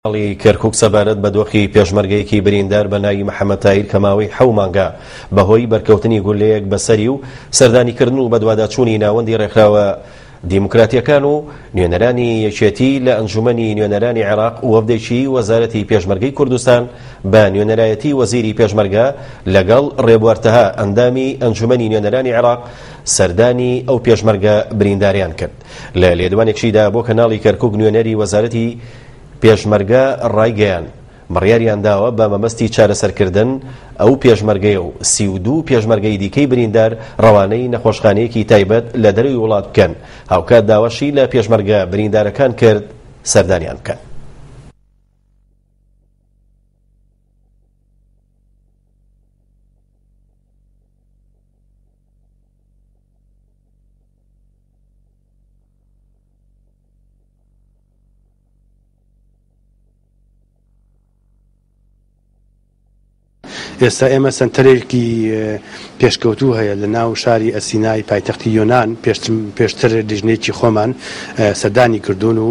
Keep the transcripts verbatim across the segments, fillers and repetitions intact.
کەرکوک سەبارەت بە دۆخی پێشمەرگەیەکی بریندار بە ناوی محەممەد تاهیر کە ماوەی حەو مانگە بەهۆی بەرکەوتنی گولەیەک بەسەری و سەردانیکردن و بەدواداچوونی ناوەندی ڕێکخراوە دیموکراتیەکان و نوێنەرانی یەکێتی لە ئەنجومەنی نوێنەرانی عێراق وەفدێکی وەزارەتی پێشمەرگەی کوردستان بە نوێنەرایەتی وەزیری پێشمەرگە لەگەڵ ڕێبوار تەها ئەندامی ئەنجومەنی نوێنەرانی عێراق سەردانی ئەو پێشمەرگە برینداریان کرد. لە لێدوانێکشیدا بۆ کەناڵی کەرکوک نوێنەری وەزارەتی پێشمەرگە ڕایگەیان بڕیاریان داوە بە مەبەستی چارەسەرکردن ئەو پێشمەرگەیە و سی و دوو پێشمەرگەی دیکەی بریندار ڕەوانەی نەخۆشخانەیەکی تایبەت لە دەرەوەی وڵات بکەن. هاوکات داواشی لە پێشمەرگە بریندارەکان کرد سەردانیان بکەن. ئێستا ئێمە سنتەرێکی پێشکەوتوو هەیە لە ناو شاری ئەسینای پایتەختی یۆنان، پێشتر لیژنەیەکی خۆمان سەردانی کردوون و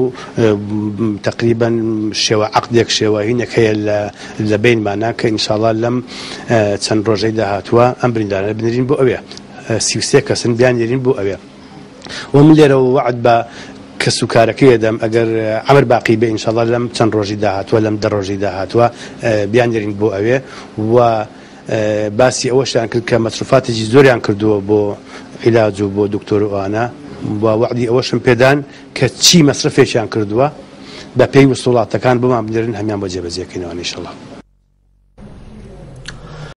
تقریبا شێوە عەقدێک شێوە هینێک هەیە لە بینمانە کە ئینشاءڵڵا لەم چەند ڕۆژەی داهاتووە ئەم بریندارانە بنێرین بۆ ئەوێ، سی و سێ کەسن بیاننێرین بۆ ئەوێ. و من لێرەوە وەعد بە کەس و کارەکەی دەم ئەگەر عەمر باقی بێ ئینشاءڵڵا لەم چەند ڕۆژی داهاتووە لەم دە ڕۆژی داهاتووە بیاننێرین بۆ ئەوێ. و باسی ئەوەشیان کرد کە مەسروفاتێکی زۆریان کردووە بۆ عیلاج و بۆ دکتۆر و ئەوانە، و وەعدی ئەوەشم پێدان کە چی مەسرفێکیان کردووە بە پێی وسوڵاتەکان بۆمان بنێرن هەمیان بۆ جێبەجێکەینەوە ئینشاءڵڵا.